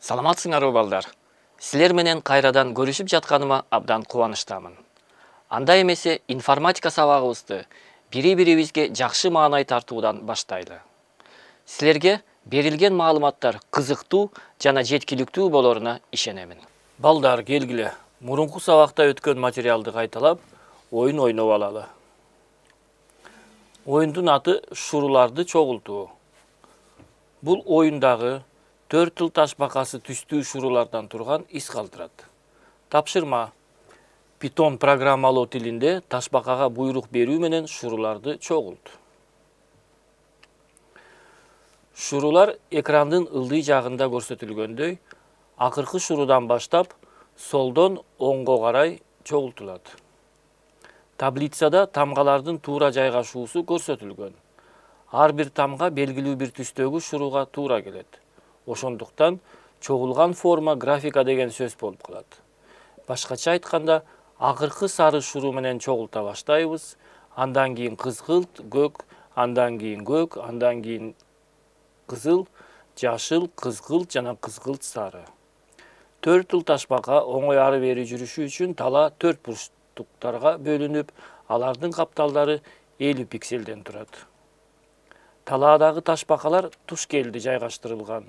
Саламатсыңарбы балдар? Силер менен кайрадан көрүшүп жатканыма абдан кубанычтамын. Анда эмесе информатика сабагыбызды бири-бирибизге жакшы маанай тартуудан баштайлы. Силерге берилген маалыматтар кызыктуу жана жеткиликтүү болоруна ишенемин. Балдар, келгиле. Мурунку сабакта өткөн материалды кайталап, оюн ойноп алалы. Оюндун аты шуруларды чогултуу. Бул оюндагы 4 тыл ташбакасы түстүү шурулардан турган из калтырат. Тапшырма. Python программалоо тилинде ташбакага буйрук берүү менен шуруларды чогулт. Шурулар экрандын ылдый жагында көрсөтүлгөндөй, акыркы шурудан баштап солдон оңго карай чогултулат. Таблицада тамгалардын туура жайгашуусу көрсөтүлгөн. Ар бир тамга белгилүү бир түстөгү шуруга туура келет. Ошондуктан чогулган форма графика деген сөз болуп калат. Башкача айтканда, акыркы сары шуру менен чогулта баштайбыз, андан кийин кызгылт, көк, андан кийин көк, андан кийин кызыл, жашыл, кызгылт жана кызгылт сары. 4 тыл ташбака оңой ары бери жүрүшү үчүн тала 4 бурчтуктарга бөлүнүп, алардын капталдары 50 пикселден турат. Талаадагы ташбакалар туш келди жайгаштырылган.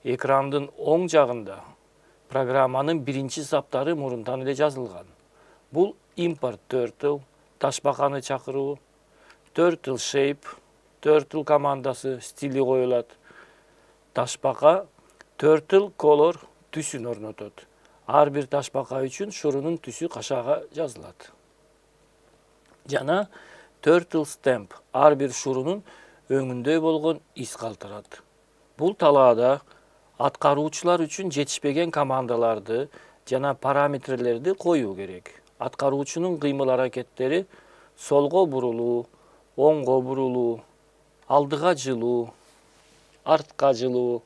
Экрандын оң жагында программанын биринчи саптары мурунтан эле жазылган. Бул import 4 тыл, ташбаканы чакыруу, 4 тыл shape, 4 тыл командасы, стили коюлат. Ташбака 4 тыл color түсүн орнотот. Ар бир ташбака үчүн шурунун түсү кашаага жазылат. Жана 4 тыл stamp, ар бир шурунун өңүндө болгон из калтырат. Бул талаада аткаруучулар үчүн жетишпеген командаларды жана параметрлерди коюу керек. Аткаруучунун кыймыл-аракеттери солго бурулуу, оңго бурулуу, алдыга жылуу, артка жылуу,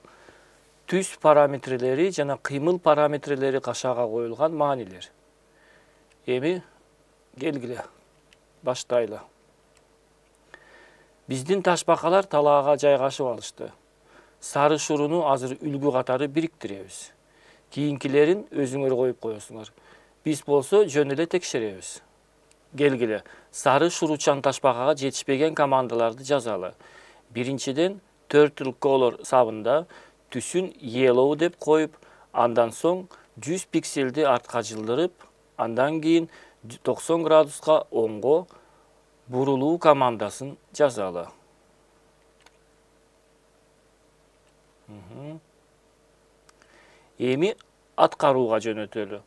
түс параметрлери жана кыймыл параметрлери кашаага коюлган маанилер. Эми келгиле, баштайлы. Биздин ташбакалар талаага жайгашып алышты. Сары шуруну азыр үлгү катары бириктиребиз. Кийинкилерин өзүңөр коюп коесуңар. Биз болсо жөн эле текшеребиз. Келгиле, сары шуручан ташбакага жетишпеген командаларды жазалы. Биринчиден 4 тыл color сабында түсүн yellow деп коюп, андан соң 100 пикселди артка жылдырып, андан кийин 90 градуска оңго бурулуу командасын жазалы. Эми аткарууга жөнөтөлү.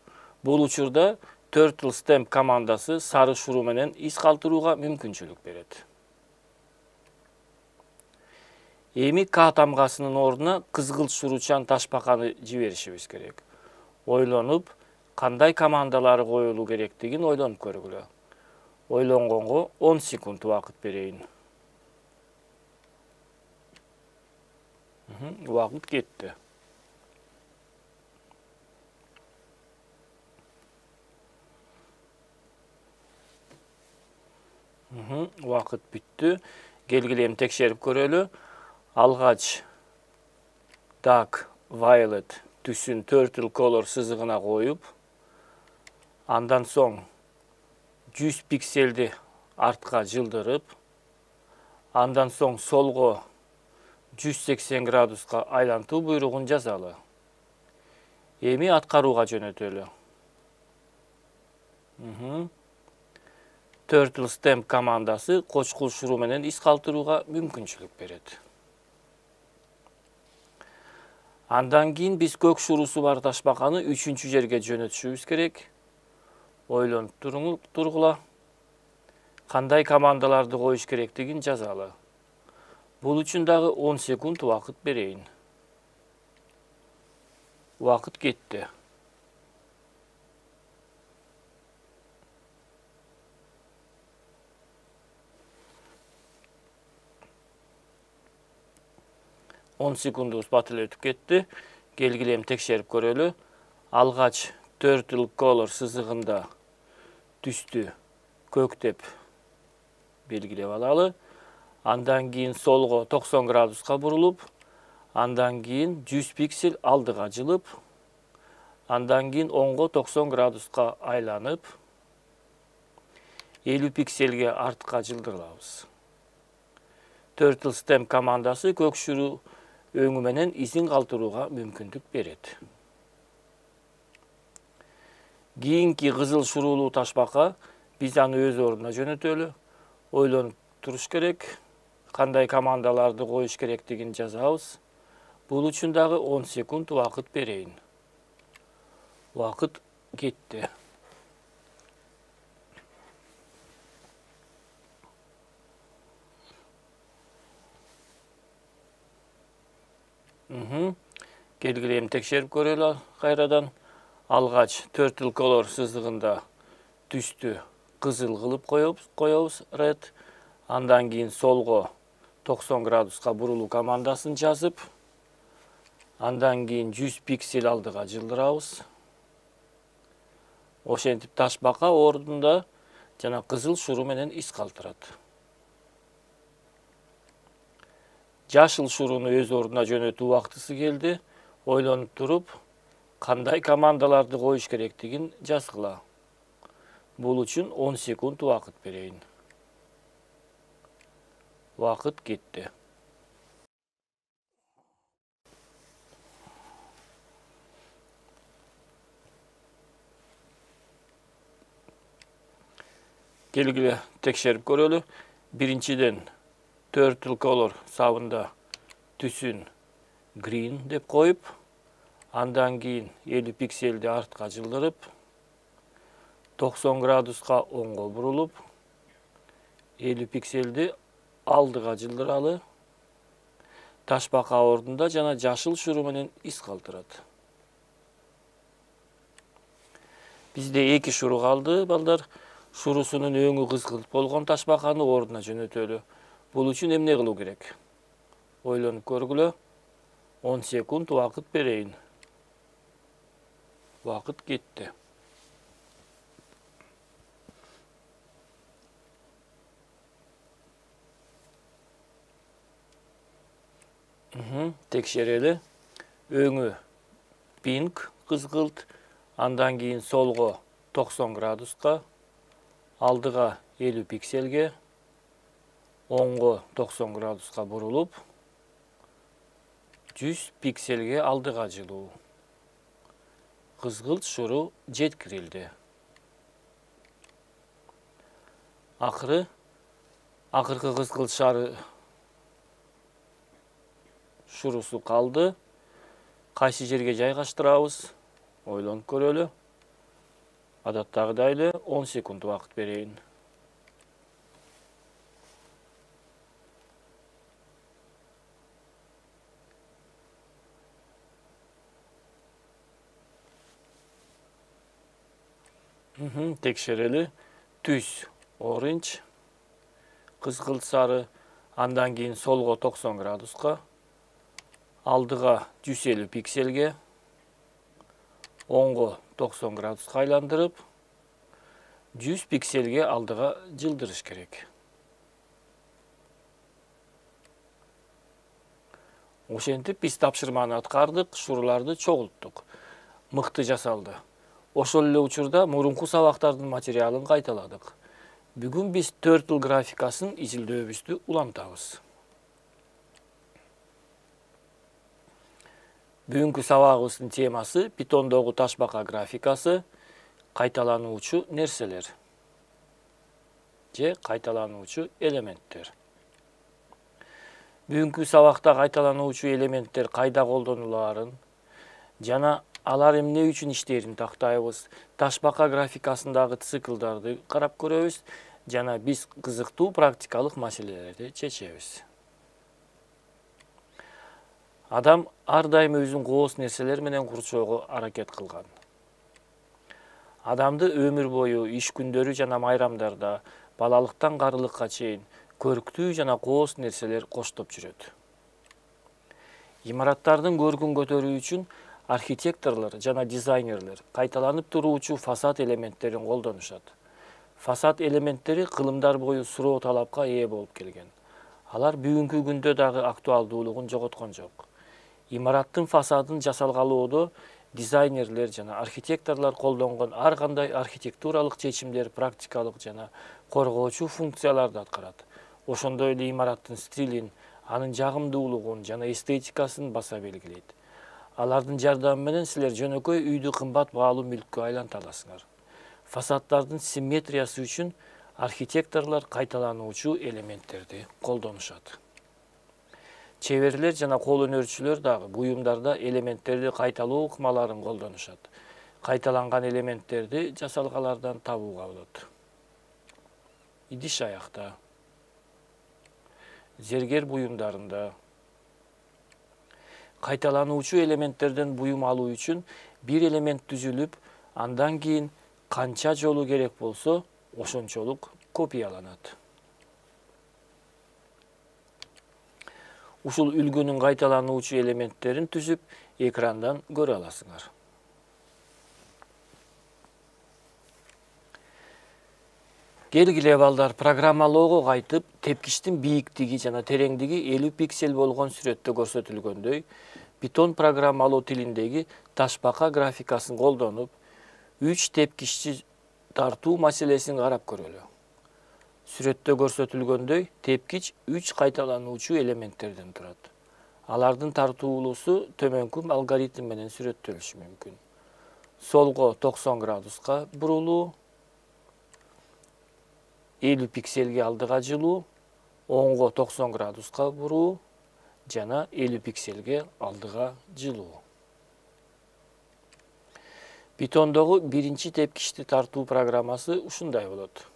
Бул учурда 4 тыл stamp командасы сары шуру менен из калтырууга мүмкүнчүлүк берет. Эми К тамгасынын ордуна кызгылт шуручан ташбаканы жиберишибиз керек. Ойлонуп, кандай командалары коюлуу керектигин ойлонуп көргүлө. Ойлонгонго 10 секунд убакыт берейин. Убакыт кетти. Убакыт бүттү. Келгиле эми текшерип көрөлү. Алгач dark violet түсүн 4 тыл color сызыгына коюп, андан соң 100 пикселди артка жылдырып, андан соң солго 180 градуска айлантуу буйругун жазалы. Эми аткарууга жөнөтөлү. 4 тыл stamp командасы кочкул шуру менен из калтырууга мүмкүнчүлүк берет. Андан кийин биз көк шурусу бар ташбаканы 3-чү жерге жөнөтүшүбүз керек. Ойлонуп тургула. Кандай командаларды коюш керектигин жазалы. Бул үчүн дагы 10 секунд убакыт берейин. Убакыт кетти. Он секундубуз бат эле өтүп кетти. Келгиле эми текшерип көрөлү. Алгач 4 тыл color сызыгында түстү көк деп белгилеп алалы. Андан кийин солго 90 градуска бурулуп, Андан кийин 100 пиксель алдыга жылып, андан кийин оңго 90 градуска айланып, 50 пиксельге артка жылдырабыз. Turtle Stem командасы көк шуру өңү менен изин калтырууга мүмкүндүк берет. Кийинки кызыл шуруулуу ташбака биз аны өз ордуна жөнөтөлү. Ойлонуп туруш керек, кандай командаларды коюш керектигин жазабыз. Бул үчүн дагы 10 секунд убакыт берейин. Убакыт кетти. Келгиле эми текшерип көрөлү кайрадан. Алгач Turtle Color сызыгында түстү кызыл кылып коебуз, red. Андан кийин солго 90 градуска бурулуу командасын жазып, андан кийин 100 пиксель алдыга жылдырабыз. Ошентип ташбака ордунда жана кызыл шуру менен из калтырат. Жашыл шуруну өз ордуна жөнөтүү убактысы келди. Ойлонуп туруп, кандай командаларды коюш керектигин жазгыла. Бул үчүн 10 секунд убакыт берейин. Убакыт кетти. Келгиле текшерип көрөлү. Биринчиден Turtle Color сабында түсүн green деп коюп, андан кийин 50 пиксельди артка жылдырып, 90 градуска оңго бурулуп, 50 пиксельди алдыга жылдыралы. Ташбака ордунда жана жашыл шуру менен из калтырат. Бизде 2 шуру калды, балдар. Шурусунун өңү кызгылт болгон ташбаканы ордуна жөнөтөлү. Бул үчүн эмне кылуу керек? Ойлонуп көргүлө. 10 секунд убакыт берейин. Убакыт кетти. Текшерели. Өңү pink кызгылт, андан кийин солго 90 градуска, алдыга 50 пиксельге, оңго 90 градуска бурулуп, 100 пиксельге алдыга жылуу. Кызгылт шуру жеткирилди. Акыркы кызгылт шары шурусу калды. Кайсы жерге жайгаштырабыз? Ойлонуп көрөлү. Адаттагыдай эле 10 секунд убакыт берейин. Текшерели. Түс orange, кызгылт сары, андан кийин солго 90 градуска, алдыга 150 пиксельге, оңго 90 градуска айландырып, 100 пиксельге алдыга жылдырыш керек. Ошентип биз тапшырманы аткардык, шуруларды чогулттук. Мыкты жасалды. Ошол эле учурда мурунку сабактардын материалын кайталадык. Бүгүн биз Turtle графикасын изилдөөбүздү улантабыз. Бүгүнкү сабагыбыздын темасы Pythondогу ташбака графикасы, кайталануучу нерселер же кайталануучу элементтер. Бүгүнкү сабакта кайталануучу элементтер кайда колдонулаарын жана алар эмне үчүн иштээрин тактайбыз. Ташбака графикасындагы циклдарды карап көрөбүз жана биз кызыктуу практикалык маселелерди чечебиз. Адам ар дайым өзүн кооз нерселер менен курчоого аракет кылган. Адамды өмүр бою иш күндөрү жана майрамдарда, балалыктан карылыкка чейин көрктүү жана кооз нерселер коштоп жүрөт. Имараттардын көркүн көтөрүү үчүн архитекторлор жана дизайнерлер кайталанып туруучу фасад элементтерин колдонушат. Фасад элементтери кылымдар бою суроо талапка ээ болуп келген. Алар бүгүнкү күндө дагы актуалдуулугун жоготкон жок. Имараттын фасадын жасалгалоодо дизайнерлер жана архитекторлор колдонгон ар кандай архитектуралык чечимдер практикалык жана коргоочу функцияларды аткарат. Ошондой эле имараттын стилин, анын жагымдуулугун жана эстетикасын баса белгилейт. Алардын жардамы менен силер жөнөкөй үйдү кымбат баалуу мүлккө айланта аласыңар. Фасаддардын симметриясы үчүн архитекторлор кайталануучу элементтерди колдонушат. Чеберлер жана кол өнөрчүлөр дагы буюмдарда элементтерди кайталоо ыкмаларын колдонушат. Кайталанган элементтерди жасалгалардан табууга болот. Идиш аякта, зергер буюмдарында кайталануучу элементтерден буюм алуу үчүн бир элемент түзүлүп, андан кийин канча жолу керек болсо, ошончолук копияланат. Ушул үлгүнүн кайталануучу элементтерин түзүп, экрандан көрө аласыңар. Келгиле балдар, программалоого кайтып, тепкичтин бийиктиги жана тереңдиги 50 пиксель болгон сүрөттө көрсөтүлгөндөй, Python программалоо тилиндеги ташбака графикасын колдонуп, 3 тепкичти тартуу маселесин карап көрөлү. Сүрөттө көрсөтүлгөндөй, тепкич 3 кайталануучу элементтерден турат. Алардын тартуулуусу төмөнкү алгоритм менен сүрөттөлүшү мүмкүн. Солго 90 градуска бурулуу, 50 пикселге алдыга жылуу, оңго 90 градуска буруу жана 50 пикселге алдыга жылуу. Pythondогу биринчи тепкичти тартуу программасы ушундай болот.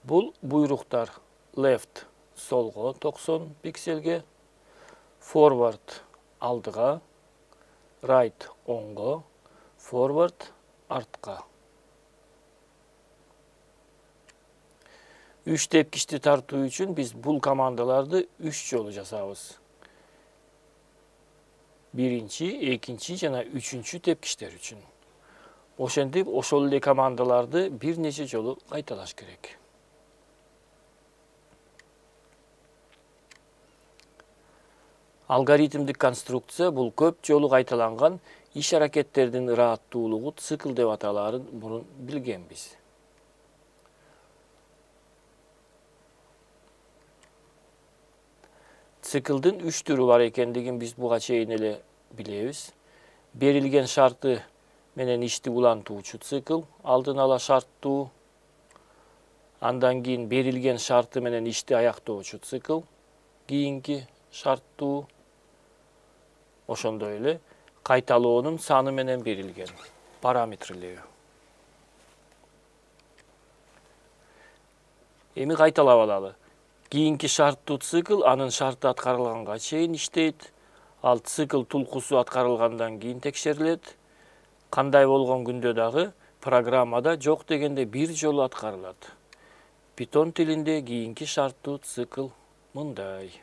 Бул буйруктар left солго 90 пикселге, forward алдыга, right оңго, forward артка. 3 тепкичти тартуу үчүн биз бул командаларды 3 жолу жасабыз. Биринчи, экинчи жана үчүнчү тепкичтер үчүн. Ошентип, ошол эле командаларды бир нече жолу кайталаш керек. Алгоритмдик конструкция бул көп жолу кайталанган иш-аракеттердин ырааттуулугу цикл деп аталаарын мурун билгенбиз. Циклдын 3 түрү бар экендигин биз буга чейин эле билебиз. Берилген шарты менен ишти улантуучу цикл, алдын ала шарттуу. Андан кийин берилген шарты менен ишти аяктоочу цикл, кийинки шарттуу. Ошондой эле кайталоонун саны менен берилген параметрлери. Эми кайталап алалы. Кийинки шарттуу цикл анын шарты аткарылганга чейин иштейт. Ал цикл тулкусу аткарылгандан кийин текшерилет. Кандай болгон күндө дагы программада жок дегенде бир жолу аткарылат. Python тилинде кийинки шарттуу цикл мындай.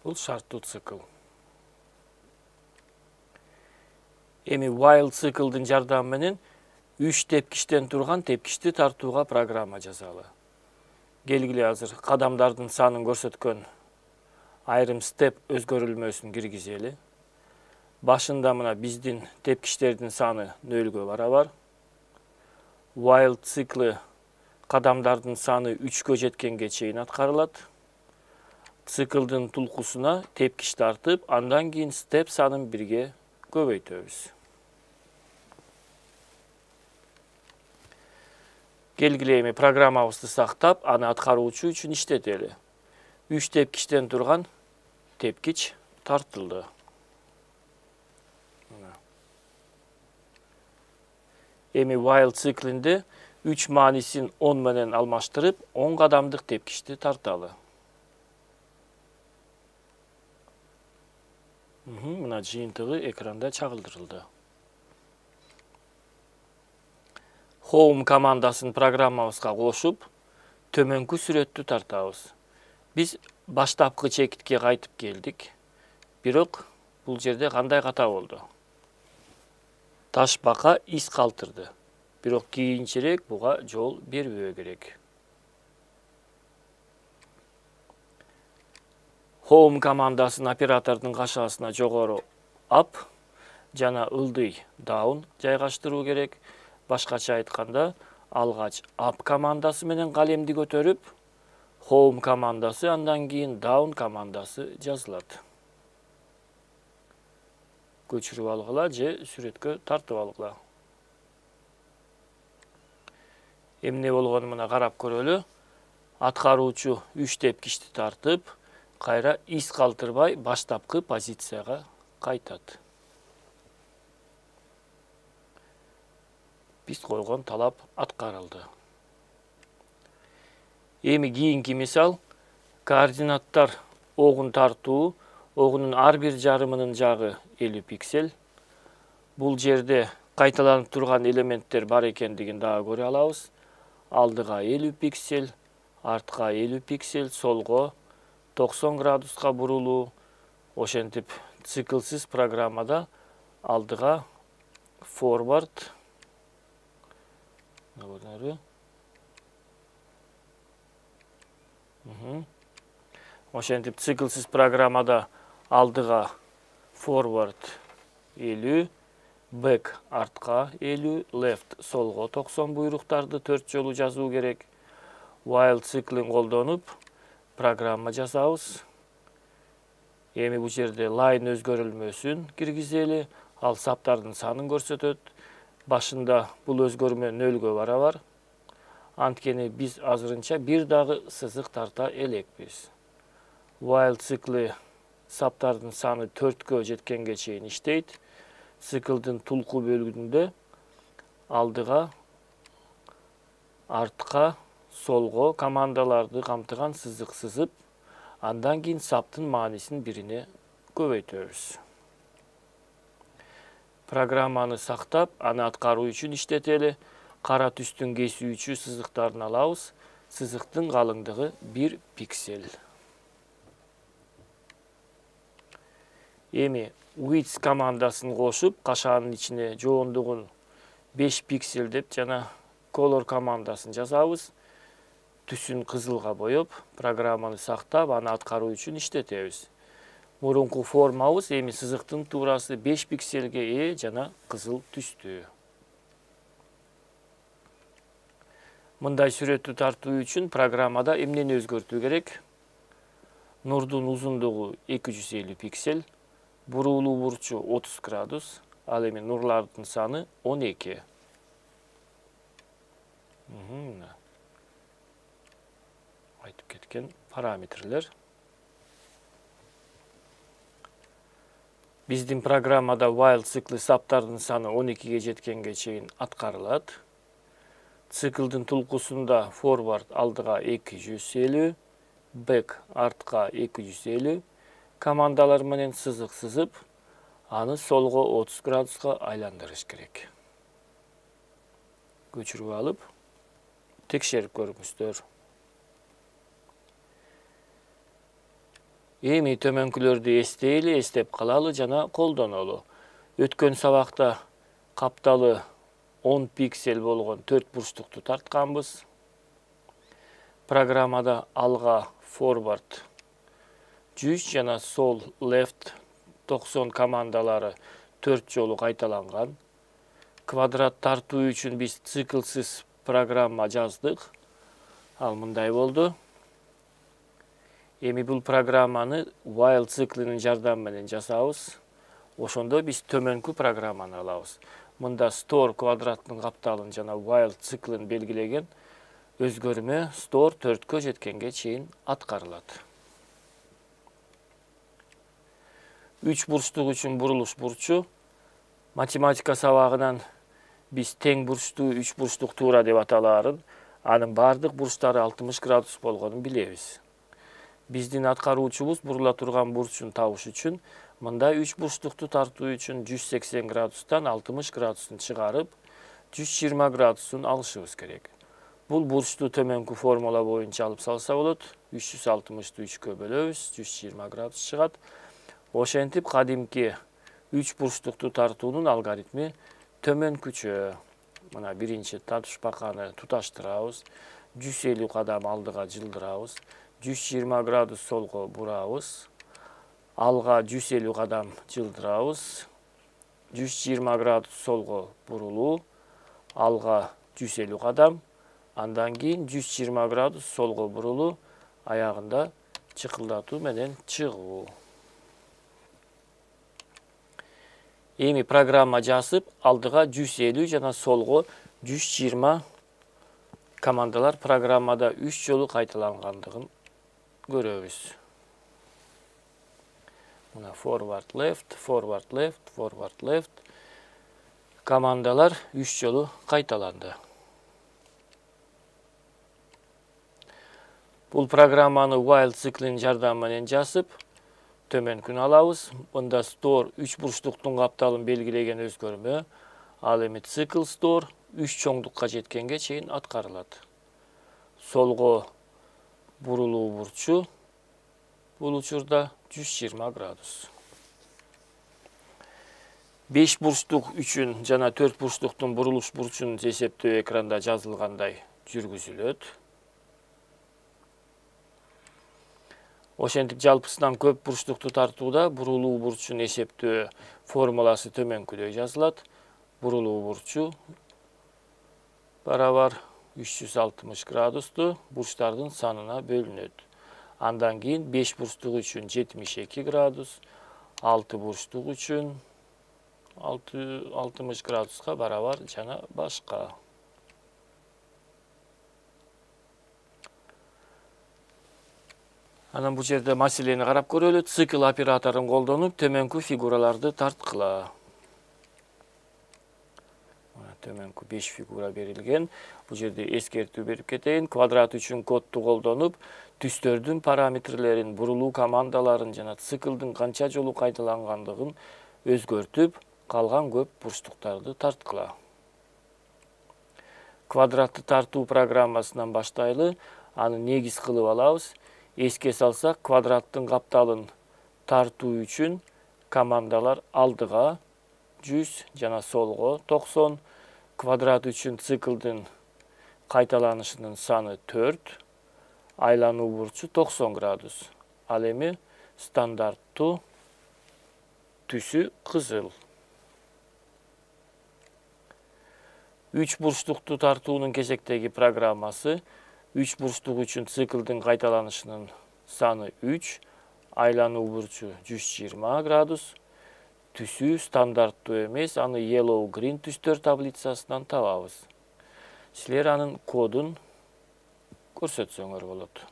Бул шарттуу цикл. Эми while циклдын жардамы менен 3 тепкичтен турган тепкичти тартууга программа жазалы. Келгиле азыр кадамдардын санын көрсөткөн айрым step өзгөрүлмөсүн киргизели. Башында мына биздин тепкичтердин саны 0-гө барабар. While циклы кадамдардын саны 3-кө жеткенге чейин аткарылат. Циклдын тулкусуна тепкич тартып, андан кийин step санын 1-ге көбөйтөбүз. Келгиле эми программабызды сактап, аны аткаруучу үчүн иштетели. 3 тепкичтен турган тепкич тартылды. Эми while циклинде 3 маанисин 10 менен алмаштырып, 10 кадамдык тепкичти тарталы. Мына жыйынтыгы экранда чагылдырылды. Home командасын программабызга кошуп, төмөнкү сүрөттү тартабыз. Биз баштапкы чекитке кайтып келдик. Бирок бул жерде кандай ката болду? Ташбака из калтырды. бирок кийинчерээк буга жол бербөө керек. Home командасын оператордун кашасына жогору up жана ылдый down жайгаштыруу керек. Башкача айтканда, алгач up командасы менен калемди көтөрүп, home командасы андан кийин down командасы жазылат. Көчүрүп алгыла же сүрөткө тартып алгыла. Эмне болгону мына карап көрөлү. Аткаруучу 3 тепкичти тартып, кайра из калтырбай баштапкы позицияга кайтат. Биз койгон талап аткарылды. Эми кийинки мисал, координаттар огун тартуу, огунун ар бир жарымынын жагы 50 пиксель. Бул жерде кайталанып турган элементтер бар экендигин дагы көрө алабыз. Алдыга 50 пиксель, артка 50 пиксель, солго 90 градуска бурулуу. Ошентип циклсиз программада алдыга forward, ошентип циклсиз программада алдыга forward 50, back артка 50, left солго 90 буйруктарды 4 жолу жазуу керек. While циклин колдонуп программа жазабыз. Эми бул жерде line өзгөрүлмөсүн киргизели, ал саптардын санын көрсөтөт. Башында бул өзгөрмө 0-гө барабар. Анткени биз азырынча бир дагы сызык тарта элекпиз. While цикли саптардын саны 4-кө жеткенге чейин иштейт. Циклдин тулку бөлүгүндө алдыга, артка, солго командаларды камтыган сызык сызып, андан кийин саптын маанисин бирине көбөйтөбүз. Программаны сактап, аны аткаруу үчүн иштетели. Кара түстүн кесүүчү сызыктарын алабыз. Сызыктын калыңдыгы 1 пиксель. Эми width командасын кошуп, кашаанын ичине жоондугун 5 пиксель деп жана color командасын жазабыз. Түсүн кызылга боеп, программаны сактап, аны аткаруу үчүн иштетебиз. Мурунку формабыз эми сызыктын туурасы 5 пиксельге ээ жана кызыл түстүү. Мындай сүрөттү тартуу үчүн программада эмнени өзгөртүү керек? Нурдун узундугу 250 пиксель, бурулуу бурчу 30 градус, ал эми нурлардын саны 12. Айтып кеткен параметрлер. Биздин программада while цикли саптардын саны 12ге жеткенге чейин аткарылат. Циклдин тулкусунда forward алдыга 250, back артка 250 командалар менен сызык сызып, аны солго 30 градуска айландырыш керек. Көчүрүп алып, текшерип көрүңүздөр. Эми төмөнкүлөрдү эстейли, эстеп калалы жана колдонолу. Өткөн сабакта капталы 10 пиксель болгон 4 бурчтукту тартканбыз. Программада алга forward 100 жана сол left 90 командалары 4 жолу кайталанган. Квадрат тартуу үчүн биз циклсиз программа жаздык. Ал мындай болду. Эми бул программаны while циклинин жардамы менен жасабыз. Ошондо биз төмөнкү программаны алабыз. Мында store квадраттын капталын жана while циклин белгилеген өзгөрмө store 4кө жеткенге чейин аткарылат. 3 бурчтук үчүн бурулуш бурчу. Математика сабагынан биз тең бурчтуу 3 бурчтук туура деп аталаарын, анын бардык бурчтары 60 градус болгонун билебиз. Биздин аткаруучубуз бурула турган бурчун табыш үчүн мындай 3 бурчтукту тартуу үчүн 180 градустан 60 градустун чыгарып, 120 градусун алышыбыз керек. Бул бурчту төмөнкү формула боюнча алып салса болот. 360-ты 3кө бөлөбүз, 120 градус чыгат. Ошентип кадимки 3 бурчтукту тартуунун алгоритми төмөнкүчө. Мына биринчи татышпаканы туташтырабыз. 150 кадам алдыга жылдырабыз. 120 градус солго бурабыз. Алга 150 кадам жылдырабыз. 120 градус солго бурулуу. Алга 150 кадам. Андан кийин 120 градус солго бурулуу. Аягында чыкылдатуу менен чыгуу. Эми программа жазып, алдыга 150 жана солго 120 командалар программада 3 жолу кайталангандыгын көрөбүз. Мына forward left, forward left, forward left командалар 3 жолу кайталанды. Бул программаны while циклинин жардамы менен жазып, төмөнкүнү алабыз. Мында store 3 бурчтуктун капталын белгилеген өзгөрмө. Ал эми цикл store 3 чоңдукка жеткенге чейин аткарылат. Солго бурулуу бурчу бул учурда 120 градус. 5 бурчтук үчүн жана 4 бурчтуктун бурулуш бурчун эсептөө экранда жазылгандай жүргүзүлөт. Ошентип жалпысынан көп бурчтукту тартууда бурулуу бурчун эсептөө формуласы төмөнкүдөй жазылат. Бурулуу бурчу барабар 360 градусту бурчтардын санына бөлүнөт. Андан кийин 5 бурчтук үчүн 72 градус, 6 бурчтук үчүн 60 градуска барабар жана башка. Анан бул жерде маселени карап көрөлү. Цикл операторун колдонуп, төмөнкү фигураларды тарткыла. Төмөнкү 5 фигура берилген. Бул жерде эскертүү берип кетейин. Квадрат үчүн кодду колдонуп, түстөрдүн параметрлерин, бурулуу командаларын жана циклдын канча жолу кайталангандыгын өзгөртүп, калган көп бурчтуктарды тарткыла. Квадратты тартуу программасынан баштайлы, аны негиз кылып алабыз. Эске салсак, квадраттын капталын тартуу үчүн командалар алдыга 100 жана солго 90, квадрат үчүн циклдын кайталанышынын саны 4, айлануу бурчу 90 градус. Ал эми стандарттуу түсү кызыл. 3 бурчтукту тартуунун кезектеги программасы 3 бурчтук үчүн циклдын кайталанышынын саны 3, айлануу бурчу 120 градус. Түсү стандарттуу эмес, аны yellow green түстөр таблицасынан табабыз. Силер анын кодун көрсөтсөңөр болот.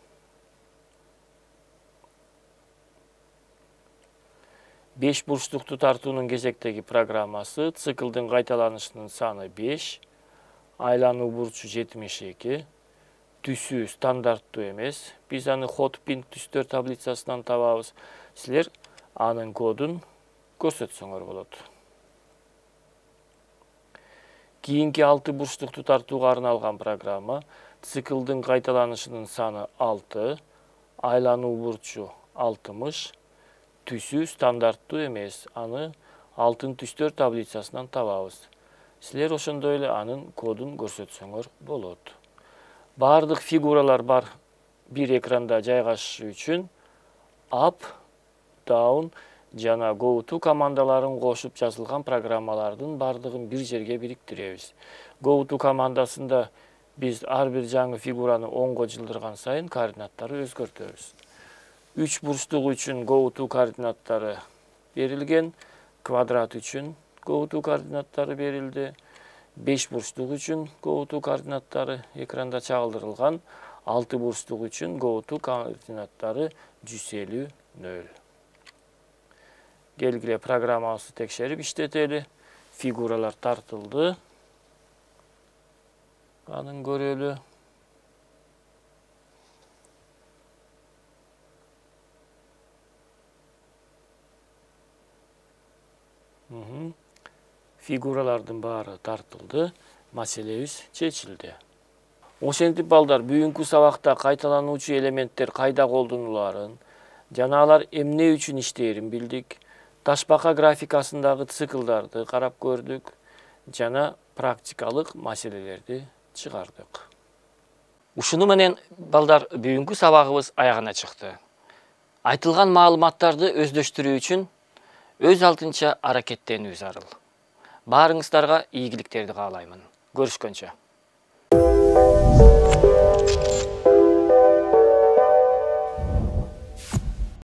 5 бурчтукту тартуунун кезектеги программасы циклдын кайталанышынын саны 5, айлануу бурчу 72, түсү стандарттуу эмес. Биз аны hotpink түстөр таблицасынан табабыз. Силер анын кодун көрсөтсөңөр болот. Кийинки 6 бурчтукту тартууга арналган программа циклдын кайталанышынын саны 6, айлануу бурчу 60, түсү стандарттуу эмес. Аны алтын түстөр таблицасынан табабыз. Силер ошондой эле анын кодун көрсөтсөңөр болот. Бардык фигуралар бар бир экранда жайгашышы үчүн up, down жана go to командаларын кошуп жазылган программалардын бардыгын бир жерге бириктиребиз. Go to командасында биз ар бир жаңы фигураны оңго жылдырган сайын координаттары өзгөртөбүз. 3 бурчтук үчүн go to координаттары берилген, квадрат үчүн go to координаттары берилди. 5 бурчтук үчүн go to координаттары экранда чагылдырылган, 6 бурчтук үчүн go to координаттары 150, 0. Келгиле программабызды текшерип иштетели. Фигуралар тартылды. Анын көрөлү. Фигуралардын баары тартылды. Маселебиз чечилди. Ошентип балдар, бүгүнкү сабакта кайталануучу элементтер кайда колдонуларын жана алар эмне үчүн иштээрин билдик. Ташбака графикасындагы циклдарды карап көрдүк. жана практикалык маселелерди чыгардык. Ушуну менен балдар бүгүнкү сабагыбыз аягына чыкты. Айтылган маалыматтарды өздөштүрүү үчүн өз алдынча аракеттенүү зарыл. Баарыңыздарга ийгиликтерди каалаймын. Көрүшкөнчө.